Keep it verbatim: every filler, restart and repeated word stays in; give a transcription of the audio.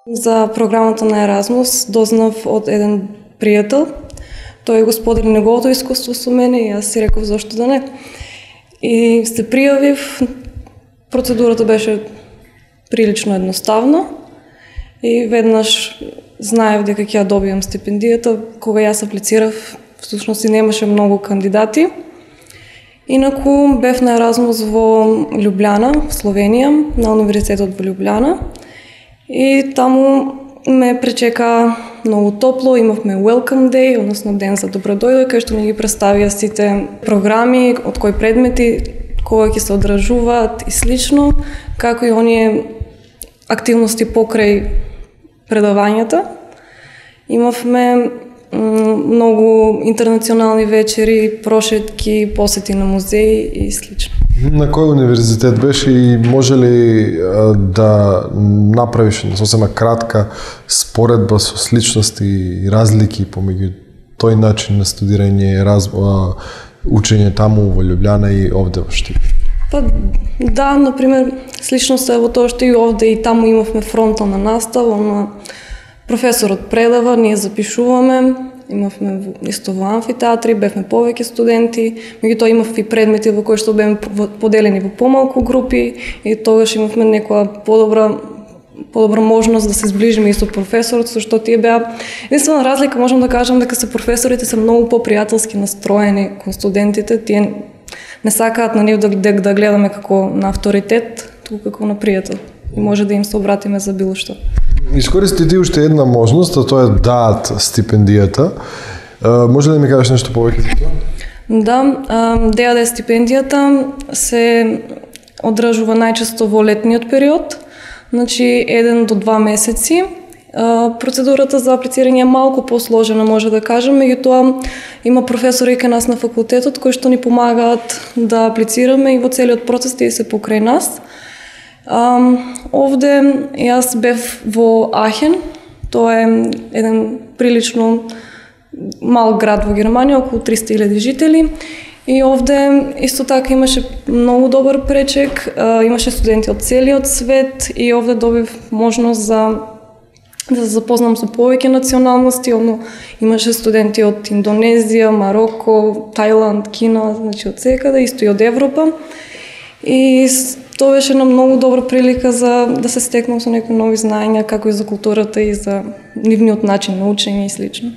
За програмата на Еразмус дознав од еден пријател. Тој го сподели неговото искуство со мене и јас си реков зошто да не. И се пријавив. Процедурата беше прилично едноставна и веднаш знаев дека ќе ја добијам стипендијата. Кога јас аплицирав, всушност и немаше многу кандидати. Инаку бев на Еразмус во Љубљана, Словенија, на универзитетот во Љубљана. И таму ме пречека многу топло, имавме welcome day, односно ден за добродојде, кај што ми ги представија сите програми, од кои предмети, кога ќе се одржуваат и слично, како и оние активности покрај предавањата. Имавме многу интернационални вечери, прошетки, посети на музеи и слично. На кој универзитет беше и може ли да направиш сосема кратка споредба со сличности и разлики помеѓу тој начин на студирање, раз, учење таму во Љубљана и овде во Штип? Па да, например, сличноста е во тоа што и овде и таму имавме фронтална настава, на професорот предава, ние запишуваме, имавме исто во амфитеатри, бевме повеќе студенти, меѓутоа имав и предмети во кои што бевме поделени во помалку групи и тогаш имавме некоја подобра подобра можност да се зближиме и со професорот, со што тие беа. Единствена разлика можам да кажам дека се професорите се многу попријателски настроени кон студентите, тие не сакаат на нив да, да, да гледаме како на авторитет, туку како на пријател. И може да им се обратиме за било што. Искористи ти уште една можност, а тоа е даат стипендијата. Може ли да ми кажеш нешто повеќе за тоа? Да, ДАД стипендијата се одржува најчесто во летниот период, значи еден до два месеци. Процедурата за аплицирање е малку посложена, може да кажем, меѓутоа има професори кај нас на факултетот кои што ни помагаат да аплицираме и во целиот процес тие се покрај нас. Um, овде јас бев во Ахен, тоа е еден прилично мал град во Германија, околу триста илјади жители. И овде исто така имаше многу добар пречек, uh, имаше студенти од целиот свет и овде добив можност за да се запознам со повеќе националности, одно имаше студенти од Индонезија, Мароко, Тајланд, Кина, значи од секаде, исто и од Европа. И тоа беше една многу добра прилика за да се стекнам со некои нови знаења, како и за културата и за нивниот начин на учење и слично.